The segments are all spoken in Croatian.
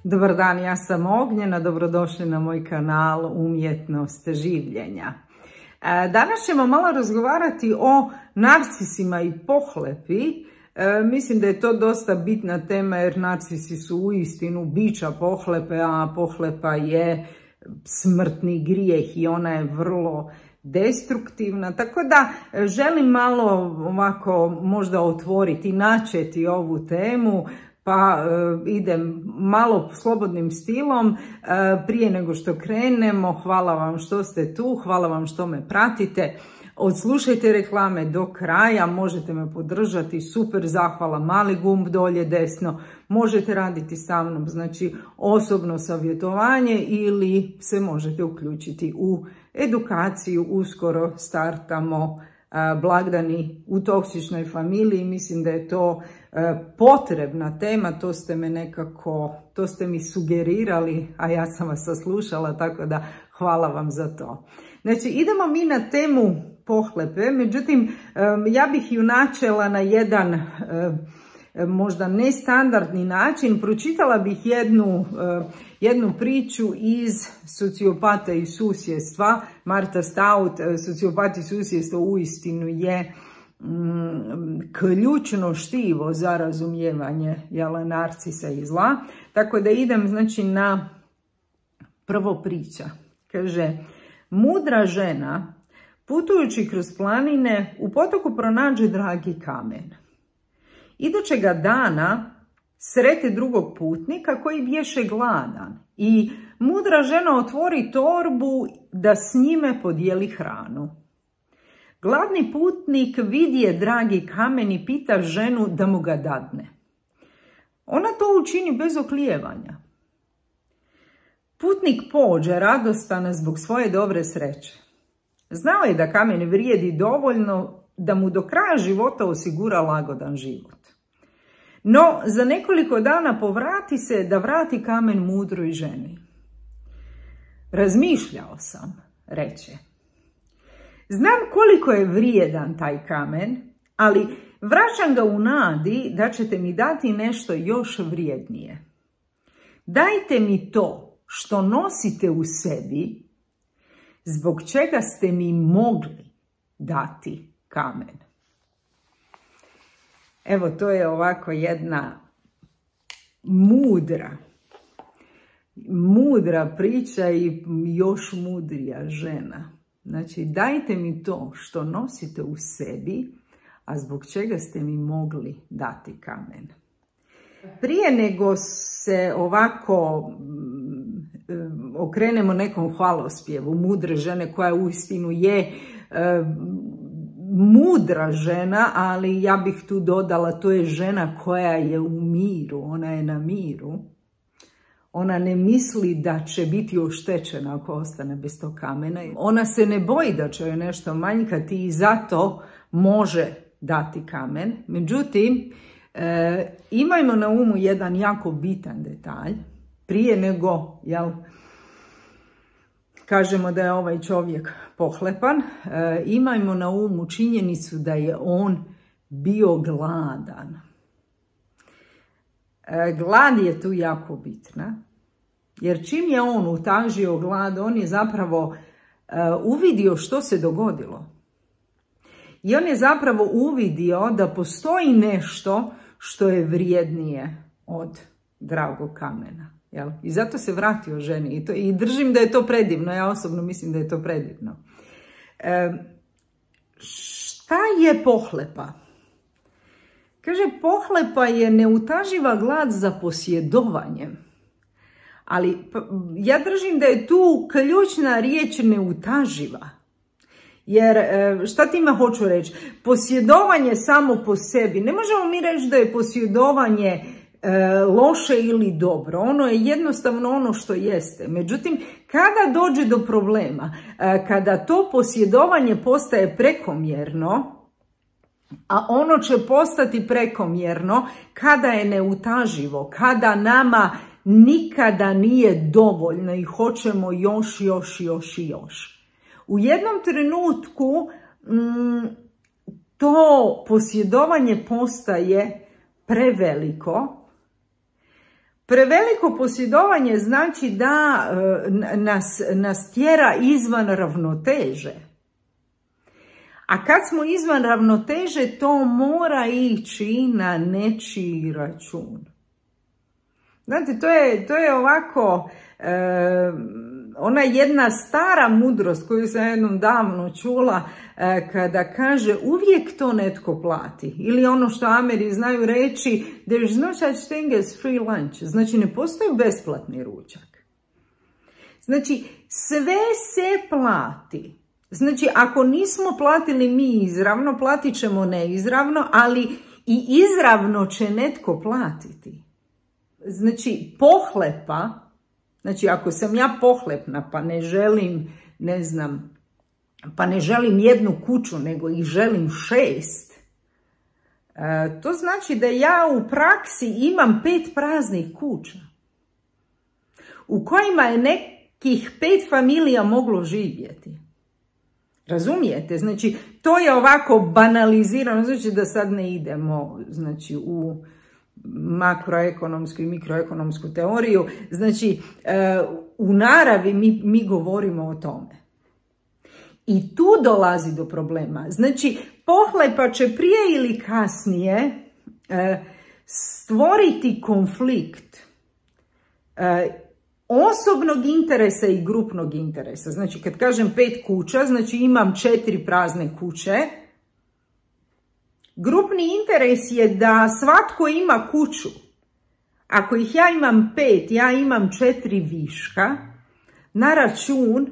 Dobar dan, ja sam Ognjena, dobrodošli na moj kanal Umjetnost življenja. Danas ćemo malo razgovarati o narcisima i pohlepi. Mislim da je to dosta bitna tema jer narcisi su uistinu bića pohlepe, a pohlepa je smrtni grijeh i ona je vrlo destruktivna. Tako da želim malo ovako možda otvoriti, načeti ovu temu, pa idem malo slobodnim stilom. Prije nego što krenemo, hvala vam što ste tu, hvala vam što me pratite. Odslušajte reklame do kraja, možete me podržati, super, zahvala, mali gumb dolje desno. Možete raditi sa mnom, znači osobno savjetovanje ili se možete uključiti u edukaciju. Uskoro startamo blagdani u toksičnoj familiji. Mislim da je to potrebna tema, to ste mi sugerirali, a ja sam vas saslušala, tako da hvala vam za to. Znači, idemo mi na temu pohlepe, međutim, ja bih ju načela na jedan možda nestandardni način. Pročitala bih jednu priču iz Sociopata i susjedstva. Martha Stout, Sociopat i susjedstvo uistinu je ključno štivo za razumijevanje narcisa i zla. Tako da idem znači na prvo priča. Kaže, mudra žena putujući kroz planine u potoku pronađe dragi kamen. Idućega dana srete drugog putnika koji bješe gladan i mudra žena otvori torbu da s njime podijeli hranu. Gladni putnik vidje dragi kamen i pita ženu da mu ga dadne. Ona to učini bez oklijevanja. Putnik pođe radostan zbog svoje dobre sreće. Znao je da kamen vrijedi dovoljno da mu do kraja života osigura lagodan život. No, za nekoliko dana povrati se da vrati kamen mudroj ženi. Razmišljao sam, reče. Znam koliko je vrijedan taj kamen, ali vraćam ga u nadi da ćete mi dati nešto još vrijednije. Dajte mi to što nosite u sebi, zbog čega ste mi mogli dati kamen. Evo, to je ovako jedna mudra priča i još mudrija žena. Znači, dajte mi to što nosite u sebi, a zbog čega ste mi mogli dati kamen. Prije nego se ovako okrenemo nekom hvalospjevu mudre žene, koja uistinu je mudra žena, ali ja bih tu dodala, to je žena koja je u miru, ona je na miru. Ona ne misli da će biti oštećena ako ostane bez tog kamena. Ona se ne boji da će joj nešto manjkati i zato može dati kamen. Međutim, imajmo na umu jedan jako bitan detalj. Prije nego, kažemo da je ovaj čovjek pohlepan, imajmo na umu činjenicu da je on bio gladan. Glad je tu jako bitna, jer čim je on utažio glad, on je zapravo uvidio što se dogodilo. I on je zapravo uvidio da postoji nešto što je vrijednije od dragog kamena. I zato se vratio ženi i držim da je to predivno, ja osobno mislim da je to predivno. Šta je pohlepa? Kaže, pohlepa je neutaživa glad za posjedovanjem. Ali ja držim da je tu ključna riječ neutaživa. Jer šta time hoću reći? Posjedovanje samo po sebi. Ne možemo mi reći da je posjedovanje loše ili dobro. Ono je jednostavno ono što jeste. Međutim, kada dođe do problema, kada to posjedovanje postaje prekomjerno, a ono će postati prekomjerno kada je neutaživo, kada nama nikada nije dovoljno i hoćemo još. U jednom trenutku to posjedovanje postaje preveliko, Preveliko posjedovanje znači da nas tjera izvan ravnoteže. A kad smo izvan ravnoteže, to mora ići na nečiji račun. Znate, to je ovako, ona jedna stara mudrost koju sam jednom davno čula, kada kaže uvijek to netko plati. Ili ono što Ameri znaju reći, there is no such thing as free lunch. Znači, ne postoji besplatni ručak. Znači, sve se plati. Znači, ako nismo platili mi izravno, platit ćemo neizravno, ali i izravno će netko platiti. Znači, pohlepa, znači ako sam ja pohlepna pa ne želim, ne znam, pa ne želim jednu kuću nego ih želim 6, to znači da ja u praksi imam 5 praznih kuća u kojima je nekih 5 familija moglo živjeti. Razumijete? Znači, to je ovako banalizirano, znači da sad ne idemo, znači, u makroekonomsku i mikroekonomsku teoriju. Znači, u naravi mi govorimo o tome. I tu dolazi do problema. Znači, pohlepa će prije ili kasnije stvoriti konflikt osobnog interesa i grupnog interesa. Znači, kad kažem 5 kuća, znači imam 4 prazne kuće. Grupni interes je da svatko ima kuću. Ako ih ja imam 5, ja imam 4 viška na račun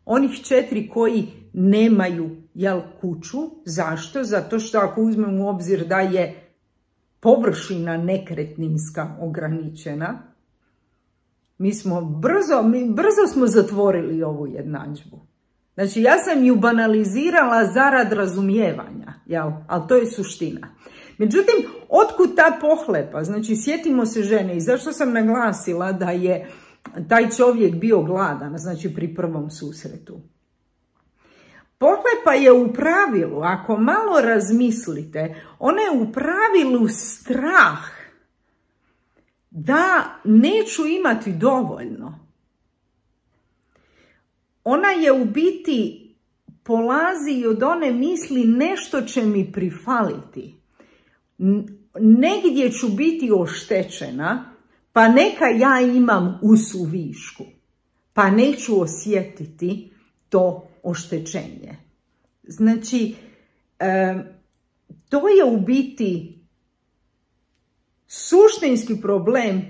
onih 4 koji nemaju kuću. Zašto? Zato što ako uzmem u obzir da je površina nekretninska ograničena, mi smo brzo smo zatvorili ovu jednadžbu. Znači, ja sam ju banalizirala zarad razumijevanja, ali to je suština. Međutim, otkud ta pohlepa? Znači, sjetimo se žene i zašto sam naglasila da je taj čovjek bio gladan, znači pri prvom susretu. Pohlepa je u pravilu, ako malo razmislite, ona je u pravilu strah da neću imati dovoljno. Ona je u biti polazi od one misli nešto će mi prifaliti. Negdje ću biti oštećena, pa neka ja imam u suvišku, pa neću osjetiti to oštećenje. Znači, to je u biti suštinski problem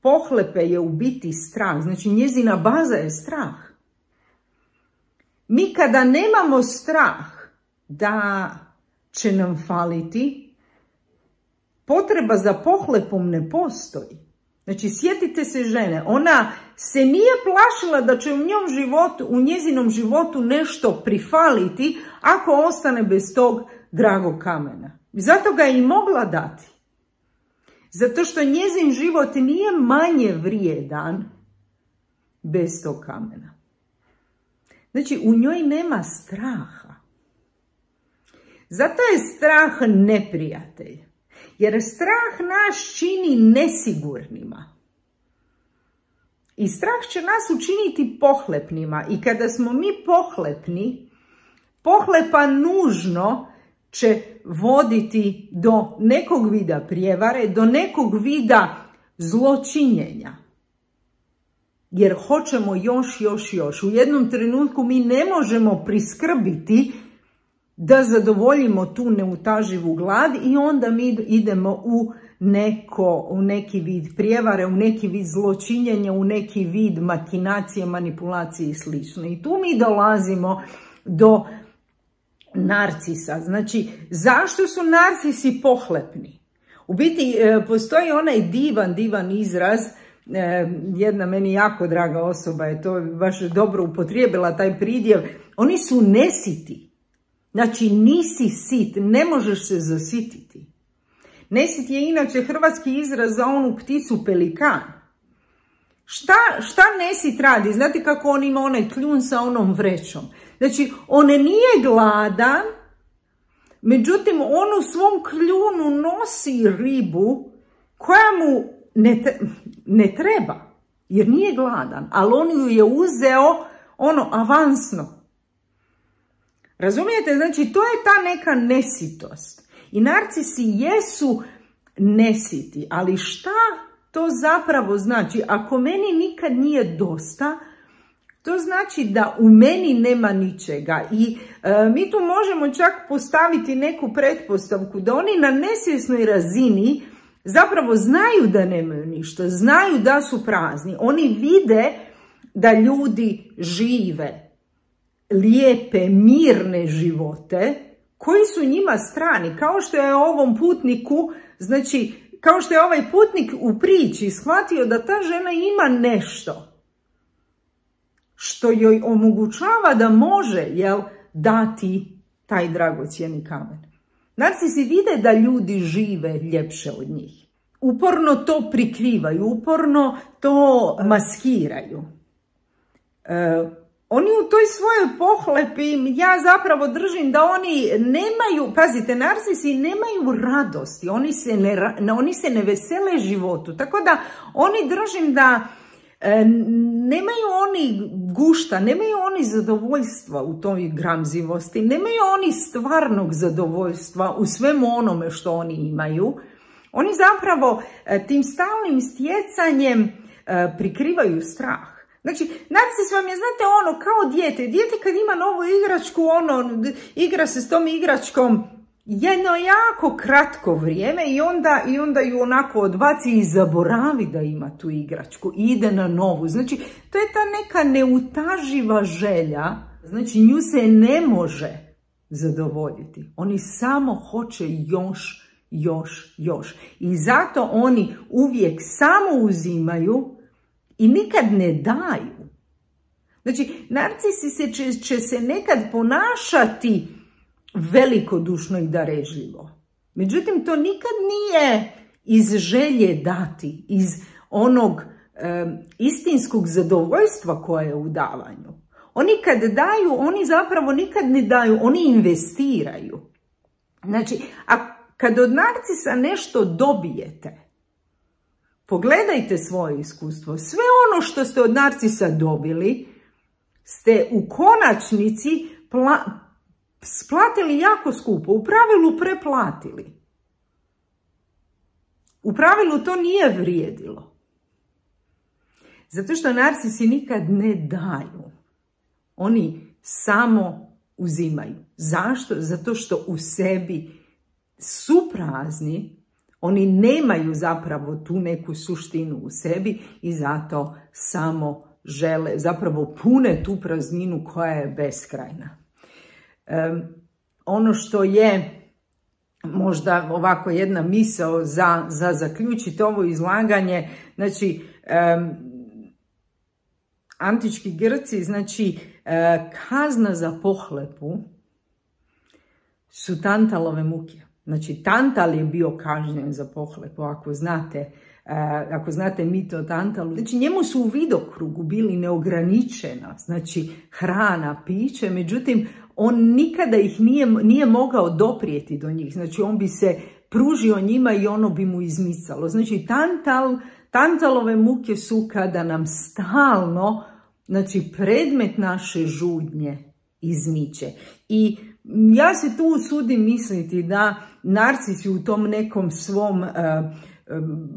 pohlepe je u biti strah. Znači, njezina baza je strah. Mi kada nemamo strah da će nam faliti, potreba za pohlepom ne postoji. Znači, sjetite se žene, ona se nije plašila da će u njezinom životu nešto prifaliti ako ostane bez tog dragog kamena. Zato ga je i mogla dati. Zato što njezin život nije manje vrijedan bez tog kamena. Znači, u njoj nema straha. Zato je strah neprijatelj. Jer strah nas čini nesigurnima. I strah će nas učiniti pohlepnima. I kada smo mi pohlepni, pohlepa nužno će voditi do nekog vida prijevare, do nekog vida zločinjenja. Jer hoćemo još. U jednom trenutku mi ne možemo priskrbiti da zadovoljimo tu neutaživu glad i onda mi idemo u neki vid prijevare, u neki vid zločinjenja, u neki vid makinacije, manipulacije i sl. I tu mi dolazimo do narcisa. Znači, zašto su narcisi pohlepni? U biti, postoji onaj divan izraz, jedna meni jako draga osoba je to baš dobro upotrijebila taj pridjev, oni su nesiti. Znači, nisi sit, ne možeš se zasititi. Nesit je inače hrvatski izraz za onu pticu pelikan. Šta nesit radi? Znate kako on ima onaj kljun sa onom vrećom? Znači, on nije gladan, međutim, on u svom kljunu nosi ribu koja mu ne treba, jer nije gladan, ali on ju je uzeo avansno. Razumijete? Znači, to je ta neka nesitost. I narcisi jesu nesiti, ali šta to zapravo znači? Ako meni nikad nije dosta, to znači da u meni nema ničega. I mi tu možemo čak postaviti neku pretpostavku da oni na nesvjesnoj razini zapravo znaju da nemaju ništa, znaju da su prazni. Oni vide da ljudi žive lijepe, mirne živote koji su njima strani. Kao što je ovom putniku, znači, kao što je ovaj putnik u priči shvatio da ta žena ima nešto što joj omogućava da može, dati taj dragocjeni kamen. Narcisi vide da ljudi žive ljepše od njih. Uporno to prikrivaju, uporno to maskiraju. Oni u toj svojoj pohlepi, ja zapravo držim da oni nemaju, pazite, narcisi nemaju radosti, oni se ne vesele životu. Tako da oni držim da nemaju oni gušta, nemaju oni zadovoljstva u toj gramzivosti, nemaju oni stvarnog zadovoljstva u svemu onome što oni imaju. Oni zapravo tim stalnim stjecanjem prikrivaju strah. Znači, narcis vam je, znate, kao dijete. Dijete kad ima novu igračku, igra se s tom igračkom jedno jako kratko vrijeme i onda ju onako odbaci i zaboravi da ima tu igračku i ide na novu. Znači, to je ta neka neutaživa želja, znači nju se ne može zadovoljiti. Oni samo hoće još. I zato oni uvijek samo uzimaju i nikad ne daju. Znači, narcisi će se nekad ponašati velikodušno i darežljivo. Međutim, to nikad nije iz želje dati, iz onog istinskog zadovoljstva koje je u davanju. Oni kad daju, oni zapravo nikad ne daju, oni investiraju. Znači, a kad od narcisa nešto dobijete, pogledajte svoje iskustvo. Sve ono što ste od narcisa dobili, ste u konačnici splatili jako skupo, u pravilu preplatili. U pravilu to nije vrijedilo. Zato što narcisi nikad ne daju. Oni samo uzimaju. Zašto? Zato što u sebi su prazni, oni nemaju zapravo tu neku suštinu u sebi i zato samo žele, zapravo pune tu prazninu koja je beskrajna. Ono što je možda ovako jedna misao za zaključiti ovo izlaganje, znači antički Grci, znači kazna za pohlepu su Tantalove muke. Znači Tantal je bio kažnjen za pohlepu, ako znate mit o Tantalu. Znači njemu su u vidokrugu bili neograničena, znači hrana, piće, međutim on nikada ih nije mogao doprijeti do njih. Znači on bi se pružio njima i ono bi mu izmicalo. Znači Tantalove muke su kada nam stalno, znači predmet naše žudnje izmiče. I ja se tu usudim misliti da narcisi u tom nekom svom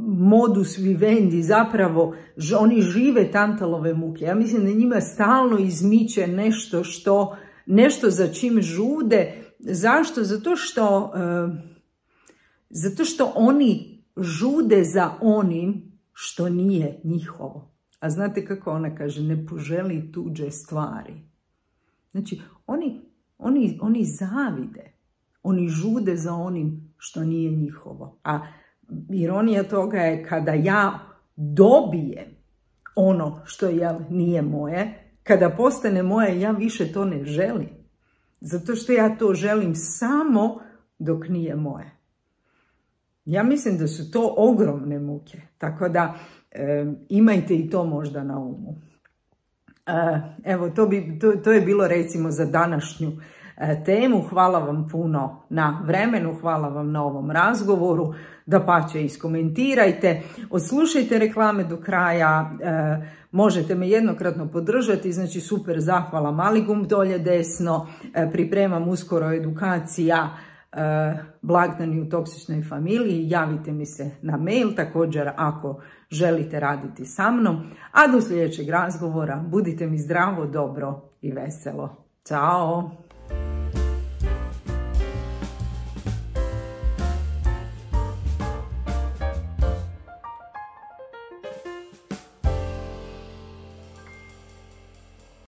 modus vivendi zapravo oni žive Tantalove muke. Ja mislim da njima stalno izmiče nešto za čim žude. Zašto? Zato što oni žude za onim što nije njihovo. A znate kako ona kaže? Ne poželi tuđe stvari. Znači, oni zavide. Oni žude za onim što nije njihovo. A ironija toga je kada ja dobijem ono što nije moje, kada postane moje, ja više to ne želim. Zato što ja to želim samo dok nije moje. Ja mislim da su to ogromne muke. Tako da imajte i to možda na umu. Evo, to je bilo recimo za današnju temu. Hvala vam puno na vremenu, hvala vam na ovom razgovoru. Dapače, iskomentirajte, odslušajte reklame do kraja, možete me jednokratno podržati, znači super, zahvala, mali gumb dolje desno, pripremam uskoro edukacija Blagdani u toksičnoj familiji, javite mi se na mail također ako želite raditi sa mnom, a do sljedećeg razgovora budite mi zdravo, dobro i veselo. Ćao!